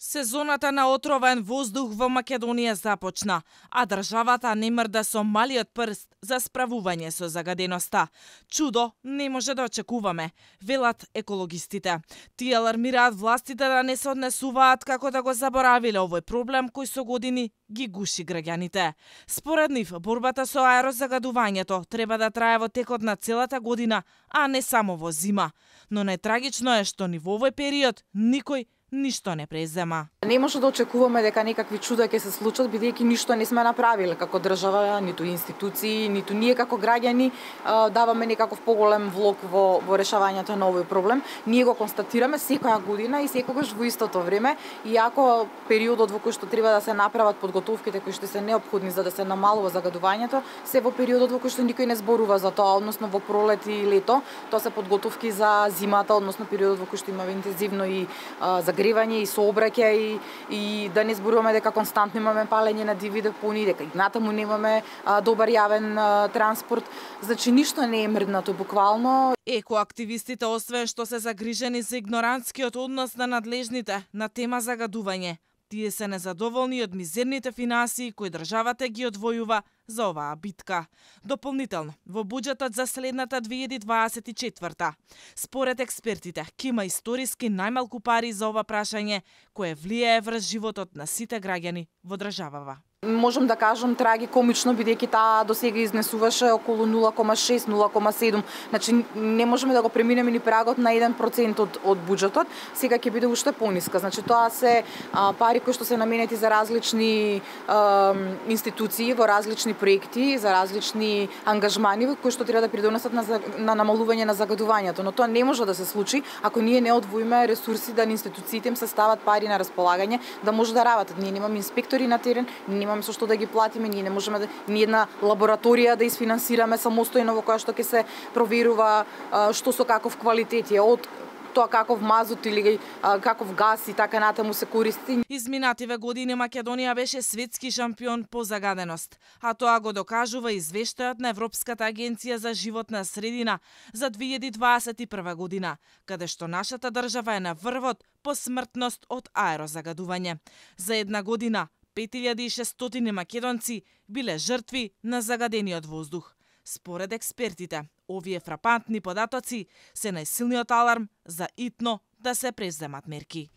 Сезоната на отровен воздух во Македонија започна, а државата не мрда со малиот прст за справување со загаденоста. Чудо не може да очекуваме, велат екологистите. Тие алармираат властите да не се однесуваат како да го заборавиле овој проблем кој со години ги гуши граѓаните. Според нив, борбата со аерозагадувањето треба да трае во текот на целата година, а не само во зима. Но најтрагично е што ни во овој период никој ништо не презема. Не може да очекуваме дека некакви чуда ќе се случат, бидејќи ништо не сме направиле како држава, ниту институции, ниту ние како граѓани даваме некаков поголем влог во решавањето на овој проблем. Ние го констатираме секоја година и секогаш во истото време, иако периодот во кој што треба да се направат подготовките кои што се неопходни за да се намалува загадувањето, се во периодот во кој што никој не зборува за тоа, односно во пролет и лето. Тоа се подготовки за зимата, односно периодот во кој што имаме интензивно и загревање и сообраќај и да не зборуваме дека константно имаме палење на диви депонии, дека и натаму немаме добар јавен транспорт. Значи ништо не е мрднато буквално. Екоактивистите освен што се загрижени за игнорантскиот однос на надлежните на тема загадување, тие се незадоволни од мизерните финансии кои државата ги одвојува за оваа битка. Дополнително, во буџетот за следната 2024, според експертите, ќе има историски најмалку пари за ова прашање кое влијае врз животот на сите граѓани во државава. Можам да кажам трагикомично, бидејќи таа досега изнесуваше околу 0,6-0,7. Значи не можеме да го преминеме ни прагот на 1% од буџетот, сега ќе биде уште пониска. Значи тоа се пари кои што се наменети за различни институции, во различни проекти, за различни ангажмани кои што треба да придонесат на намалување на загадувањето, но тоа не може да се случи ако ние не одвоиме ресурси да институциите им се стават пари на располагање да може да работат. Ние немаме инспектори на терен, немаме со што да ги платиме, ние не можеме ни една лабораторија да isfinansirаме самостојно во која што ќе се проверува што со каков квалитет е, од тоа каков мазут или каков газ и така натаму се користи. Изминативе години Македонија беше светски шампион по загаденост, а тоа го докажува извештајот на Европската агенција за животна средина за 2021 година, каде што нашата држава е на врвот по смртност од аерозагадување. За една година 5600 македонци биле жртви на загадениот воздух. Според експертите, овие фрапантни податоци се најсилниот аларм за итно да се преземат мерки.